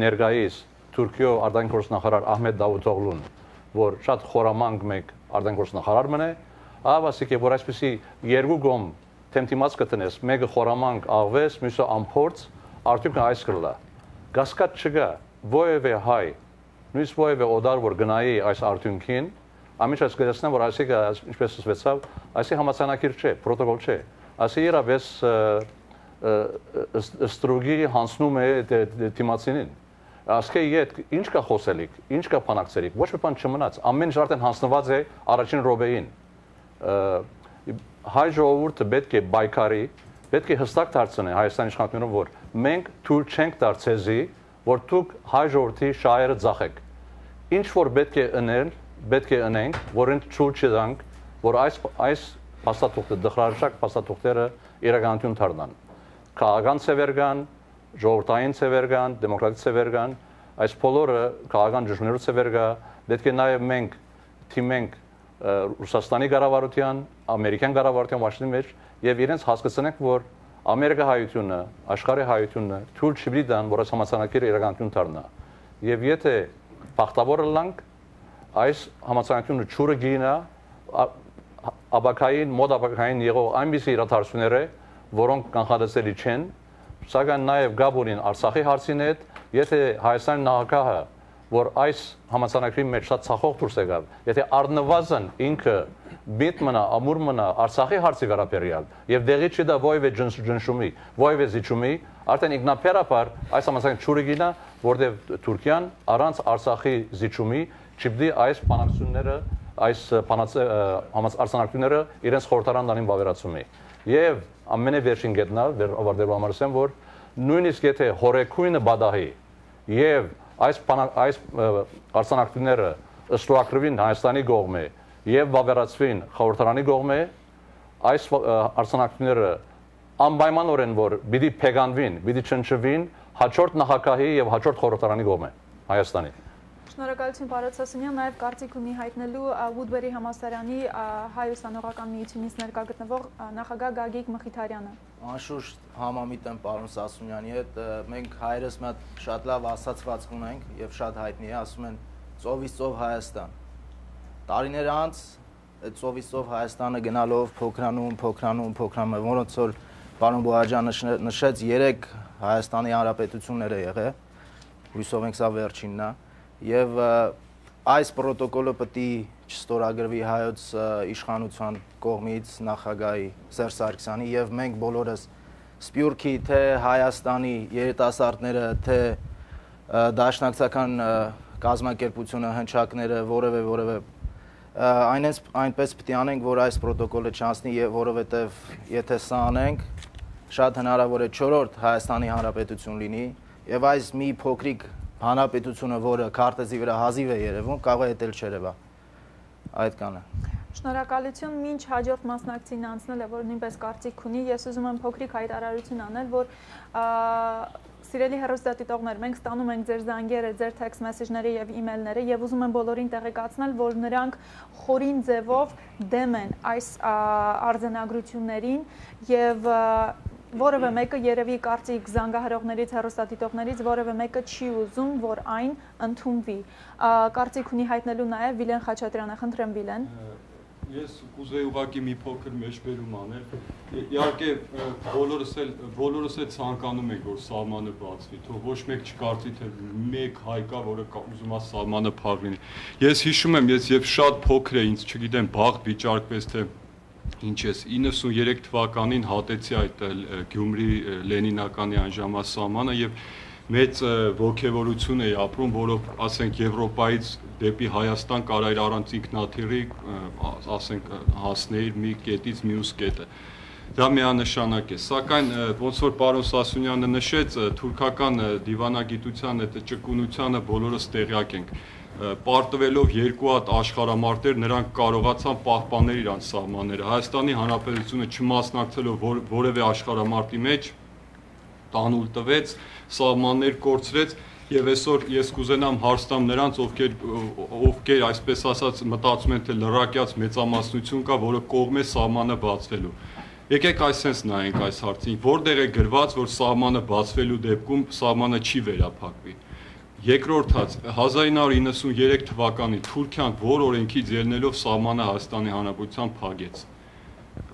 Ներկայիս Թուրքիո արտգործնախարար Ահմեդ Դավութօղլուն, որ շատ խորամանկ մեկ արտգործնախարար մնե, ավասիկ է, որ այսպեսի երկու գոմ թեմտիմաց կտնես, մեկը խորամանկ աղվես, մյուսը ամփորձ, արդյունքը այս կլա։ Գասկած չկա, ովևէ հայ, նույնիսկ ովևէ օդար, որ գնայի այս արդյունքին, ամենից գտեսնեմ, որ այսիկը, ինչպես ասվեցավ, այսի համաձայնագիր չէ, պրոտոկոլ չէ, այսի իրապես ստրուգի հանցնում է թիմացինին։ Ասկե իդ ինչ կա խոսելիք, ինչ կա փանակցելիք, ոչ մի բան չմնաց, ամեն ինչ արդեն հանձնված է առաջին րոպեին։ Հայ ժողովուրդը պետք է բայկարի, պետք է հստակ դարձնի Հայաստանի իշխանությունները, որ մենք թույլ չենք տար ցեզի, որ դուք հայ ժողովրդի շահերը ձախեք։ Ինչ որ պետք է անել, պետք է անենք, որին թույլ չտանք, որ այս փաստաթուղթը դխրաժակ փաստաթուղթերը իրականություն դառնան։ Քաղաքական ցևերգան, ժողովրդային ցևերգան, դեմոկրատիկ ցևերգան, այս բոլորը քաղաքական ճշմարտությունների ցևերգա, պետք է նաև մենք թիմենք Ռուսաստանի կառավարության, ամերիկյան կառավարության Վաշինգտոնի մեջ եւ իրենց հասկացնենք, որ Ամերիկա հայությունը, աշխարհի հայությունը թույլ չի տան, որ այս համաձայնագիրը իրականություն դառնա։ Եվ եթե բախտավոր լանք այս համաձայնագիրը ճուրը գինա աբակային, մոդ աբակային եղող այնպիսի իրադարձությունները, որոնք կանխատեսելի չեն, սակայն նաև գաբունին Արցախի հարցին հետ, եթե Հայաստանի նախագահը, որ այս համաձայնագրի մեջ շատ ցախող դուրս եկավ, եթե առնվազն ինքը միտ մնա, ամուր մնա Արցախի հարցի վերաբերյալ եւ դեղի չդա ովևէ ջնշումի, ովևէ զիջումի, արդեն ինքնաբերաբար այս համաձայնագրի ճուրը գինա, որտեղ Թուրքիան առանց Արցախի զիջումի չպետք է այս բանակցությունները, այս արձանագրությունները իրենց խորհրդարան դանին վավերացումի։ Եվ ամենավերջին գետնալ, ավարտելու համար ասեմ, որ նույնիսկ եթե հորեկույնը բադահի եւ այս արձանագրությունները ստուակրվին Հայաստանի կողմէ եւ վավերացվին խորհրդարանի կողմէ, այս արձանագրությունները անպայմանորեն որ պիտի փեգանվին, պիտի չնչվին հաջորդ նախագահի եւ հաջորդ խորհրդարանի կողմէ Հայաստանի։ Շնորհակալություն պարոն Սասունյան, նաև կարծիք ունի հայտնելու Վուդբերի համալսարանի հայ ուսանողական միությունից ներկա գտնվող նախագահ Գագիկ Մխիթարյանը։ Անշուշտ համամիտ եմ պարոն Սասունյանի հետ, մենք հայերս շատ լավ ասացվածք ունենք եւ շատ հայտնի է, ասում են ծովից ծով Հայաստան։ Տարիներ անց այդ ծովից ծով Հայաստանը գնալով փոքրանում, որոնց որ պարոն Բոհաջյանը նշեց 3 Հայաստանի հանրապետություններ է եղել, հույսով ենք սա վերջինն է։ Եվ այս պրոտոկոլը պետք է չստորագրվի հայոց իշխանության կողմից նախագահի Սերժ Սարգսյանի եւ մենք բոլորս Սփյուռքի թե Հայաստանի երիտասարդները թե դաշնակցական կազմակերպությունը հնչակները որևէ այնպես պետք է անենք, որ այս պրոտոկոլը չանցնի եւ որովհետեւ եթե սա անենք շատ հնարավոր է 4-րդ Հայաստանի Հանրապետություն լինի եւ այս մի փոքրիկ հանրապետությունը, որը քարտեզի վրա հազիվ է երևում, կարող է հետել չերևա։ Այդ կանը։ Շնորհակալություն, մինչ հաջորդ մասնակցին անցնել է, որ նույնպես կարծիք ունի, ես ուզում եմ փոքրիկ հայտարարություն անել, որ սիրելի հեռուստադիտողներ, մենք ստանում ենք ձեր զանգերը, ձեր text message-ները եւ email-ները եւ ուզում եմ բոլորին տեղեկացնել, որ նրանք խորին ձևով դեմ են այս արձանագրություններին եւ որևէ մեկը երևի կարծիք զանգահարողներից, հեռուստադիտողներից որևէ մեկը չի ուզում, որ այն ընդունվի։ Կարծիք ունի հայտնելու նաև Վիլեն Խաչատրյանը, խնդրեմ Վիլեն։ Ես կուզեի ուղղակի մի փոքր մեջբերում անել։ Իհարկե բոլորս էլ ցանկանում ենք, որ սահմանը բացվի, թող ոչ մեկ չկարծի, թե մեկ հայ կա, որը ուզում է սահմանը փակ լինի։ Ես հիշում եմ, ես եւ շատ փոքր էի, ինձ չգիտեմ, բաղ վիճարկվեց, թե ինչ ես 93 թվականին հատեցի այդ Գյումրի Լենինականի այն ժամվա սահմանը եւ մեծ ողջևորություն էի ապրում, որով ասենք Եվրոպայից դեպի Հայաստան կարայր առանց ինքնաթիռի, ասենք հասնել մի կետից մյուս կետը։ Դա միանշանակ է, սակայն ոնց որ պարոն Սասունյանը նշեց, թուրքական դիվանագիտության այդ ճկունությանը բոլորս տեղյակ ենք։ Պարտվելով երկու հատ աշխարհամարտեր նրանք կարողացան պահպանել իրենց սահմանները։ Հայաստանի Հանրապետությունը չմասնակցելով որևէ աշխարհամարտի մեջ տանուլ տվեց, սահմաններ կորցրեց եւ այսօր ես կուզենամ հարցնամ նրանց, ովքեր այսպես ասած մտածում են, թե լրակյաց մեծամասնություն կա, որը կողմ է սահմանը բացվելու։ Եկեք այսպես նայենք այս հարցին, որտեղ է գրված, որ սահմանը բացվելու դեպքում սահմանը չի վերափակվի։ Երկրորդ հաց 1993 թվականին Թուրքիան որ օրենքից ելնելով սահմանը Հայաստանի Հանրապետության փակեց։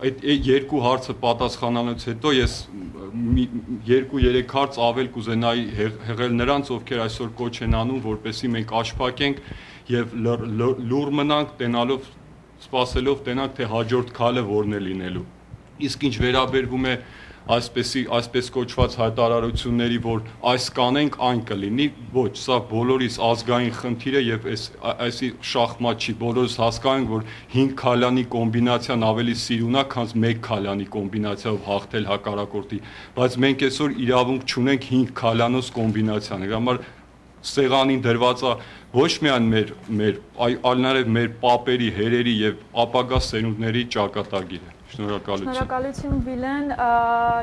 Այդ երկու հարցը պատասխանելուց հետո ես 2-3 հարց ավել կուզենայի հեղել նրանց, ովքեր այսօր կոչ են անում, որպեսզի մենք աշխատենք եւ լուր մնանք, տենալով սպասելով տենանք, թե հաջորդ քայլը որն է լինելու։ Իսկ ինչ վերաբերվում է այսպես կոչված հայտարարությունների, որ այս կանենք, այն կլինի, ոչ, սա բոլորիս ազգային խնդիր է եւ այսի շախմատ չի, բոլորս հասկանում ենք, որ 5 քալանի կոմբինացիան ավելի սիրունա, քան 1 քալանի կոմբինացիայով հաղթել հակառակորդի, բայց մենք այսօր իրավունք չունենք 5 քալանոց կոմբինացիան, դրա համար սեղանին դրված է ոչ միայն այլ նաեւ մեր պապերի, հերերի եւ ապագա սերունդների ճակատագիրը։ Շնորհակալություն։ Շնորհակալություն Վիլեն,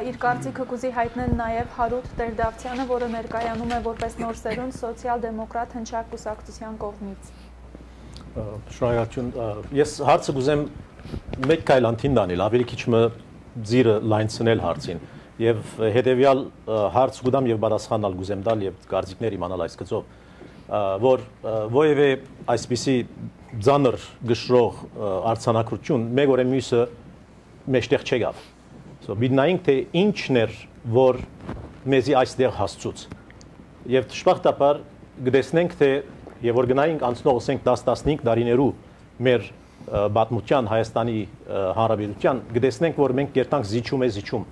իր կարծիքը կուզի հայտնել նաև Հարութ Տեր-Դավթյանը, որը ներկայանում է որպես նոր սերունդ սոցիալ-դեմոկրատ հնչակ կուսակցության կողմից։ Շնորհակալություն։ Ես հարցը կուզեմ մեկ քայլ անտին դանել, ավելի քիչ մը ձիրը լայնցնել հարցին եւ հետեւյալ հարց կուտամ եւ պատասխանալ կուզեմ տալ եւ կարծիքներ իմանալ այս գծով, որ ովևէ այսպիսի ծանր գշրող արձանագրություն մեկ օրը մյուսը մեջտեղ չեկավ։ Բիդնայինք թե ինչն էր, որ մեզի այստեղ հասցուց։ Եվ դժբախտաբար գտեսնենք, թե եւ որ գնայինք անցնող 10-15 տարիներու մեր պատմության Հայաստանի Հանրապետության, գտեսնենք, որ մենք կերտանք զիջում։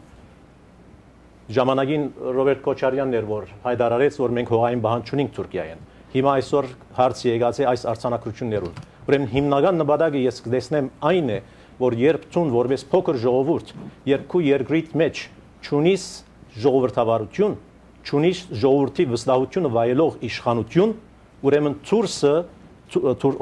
Ժամանակին Ռոբերտ Քոչարյանն էր, որ հայտարարեց, որ մենք հողային բանջ չունենք Թուրքիայեն։ Հիմա այսօր հարցը եկած է այս արձանագրություններուն։ Ուրեմն հիմնական նպատակը ես կտեսնեմ այն է, որ երբ ցուն որպես փոքր ժողովուրդ, երբ քու երկրիդ մեջ ճունիս ժողովրդավարություն, ճունիս ժողովրդի վստահությունը վայելող իշխանություն, ուրեմն ցուրսը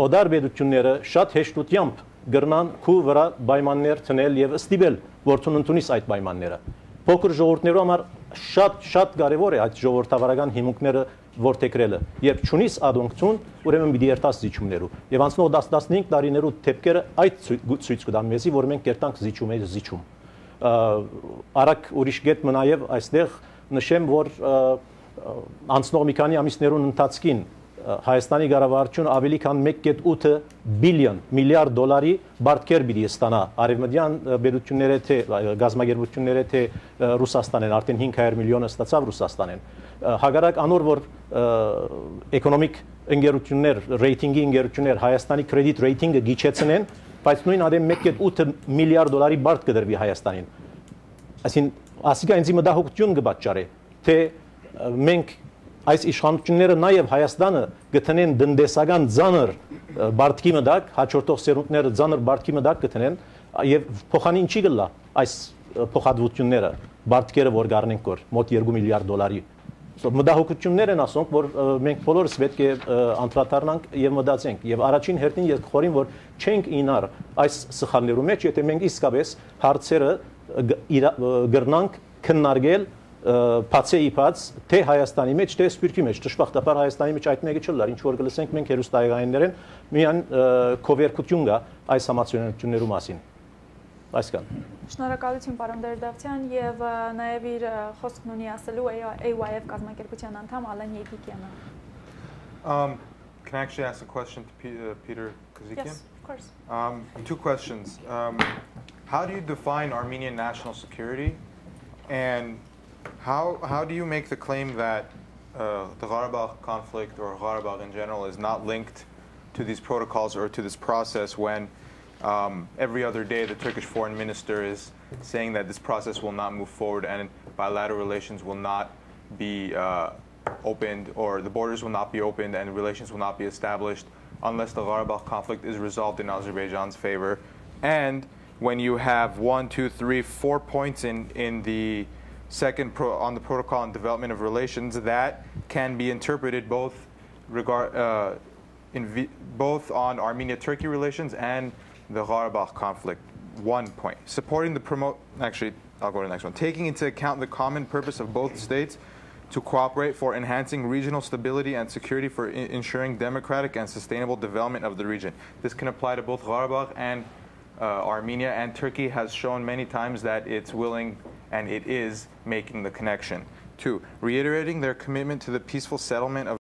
օդար պետությունները շատ հեշտությամբ գրնան քու վրա պայմաններ տնել եւ ստիպել, որ ցուն ընդունիս այդ պայմանները։ Փոքր ժողովուրդներու համար շատ կարեւոր է այդ ժողովրդավարական հիմունքները որտեգրելը։ Երբ ճունիս ադոնքցուն, ուրեմն պիտի երթաս զիջումներու։ Եվ անցնող 10-15 տարիներու դեպքերը այդ ցույց կտան մեզի, որ մենք կերտանք զիջում։ Արագ ուրիշ գետ մնայև այստեղ նշեմ, որ անցնող մի քանի ամիսներուն ընթացքին Հայաստանի կառավարությունը ավելի քան 1.8 բիլիոն միլիարդ դոլարի բարտքեր պիտի ստանա արևմտյան պետությունները թե գազագերբությունները թե Ռուսաստանեն, արդեն 500 միլիոնը ստացավ Ռուսաստանեն։ Հակառակ անոր որ էկոնոմիկ ընկերություններ, ռեյտինգի ընկերություններ Հայաստանի կրեդիտ ռեյտինգը գիչեցնեն, բայց նույն ադեմ 1.8 միլիարդ դոլարի բարդ կդրվի Հայաստանին։ Այսին ասիկա ինձ մտահոգություն կպատճառի, թե մենք այս իշխանությունները նաև Հայաստանը գտնեն դնդեսական ծանր բարդքի մտակ, հաջորդող սերունդները ծանր բարդքի մտակ գտնեն եւ փոխանին չի գլա այս փոխադրությունները, բարդքերը որ գարնենք կոր մոտ 2 միլիարդ դոլարի։ Մտահոգություններ են ասոնք, որ մենք բոլորս պետք է անդրադառնանք եւ մտածենք եւ առաջին հերթին ես խորին, որ չենք ինար այս սխալներու մեջ, եթե մենք իսկապես հարցերը գրնանք քննարկել բացեիփած թե Հայաստանի մեջ, թե Սփյուռքի մեջ, դժբախտաբար Հայաստանի մեջ այդ մեկը չլար, ինչ որ գլսենք մենք հերոստայգայիններեն միան կովերկություն կա այս համացանցություններու մասին։ Այսքան։ Շնորհակալություն պարոն Տեր-Դավթյան եւ նաեւ իր խոսքն ունի ասելու AYF կազմակերպության անդամ Ալեն Եգիկյանը։ Can I actually ask a question to Peter Kazikian? Yes, of course. 2 questions. How do you define Armenian national security, and how do you make the claim that the Qarabakh conflict or Qarabakh in general is not linked to these protocols or to this process when every other day the Turkish foreign minister is saying that this process will not move forward and bilateral relations will not be opened, or the borders will not be opened and relations will not be established unless the Qarabakh conflict is resolved in Azerbaijan's favor? And when you have 1, 2, 3, 4 points in the second on the protocol on development of relations that can be interpreted both both on Armenia-Turkey relations and the Qarabakh conflict. 1 point. Supporting the actually, I'll go to the next one. Taking into account the common purpose of both states to cooperate for enhancing regional stability and security for ensuring democratic and sustainable development of the region. This can apply to both Qarabakh and Armenia, and Turkey has shown many times that it's willing and it is making the connection. 2, reiterating their commitment to the peaceful settlement of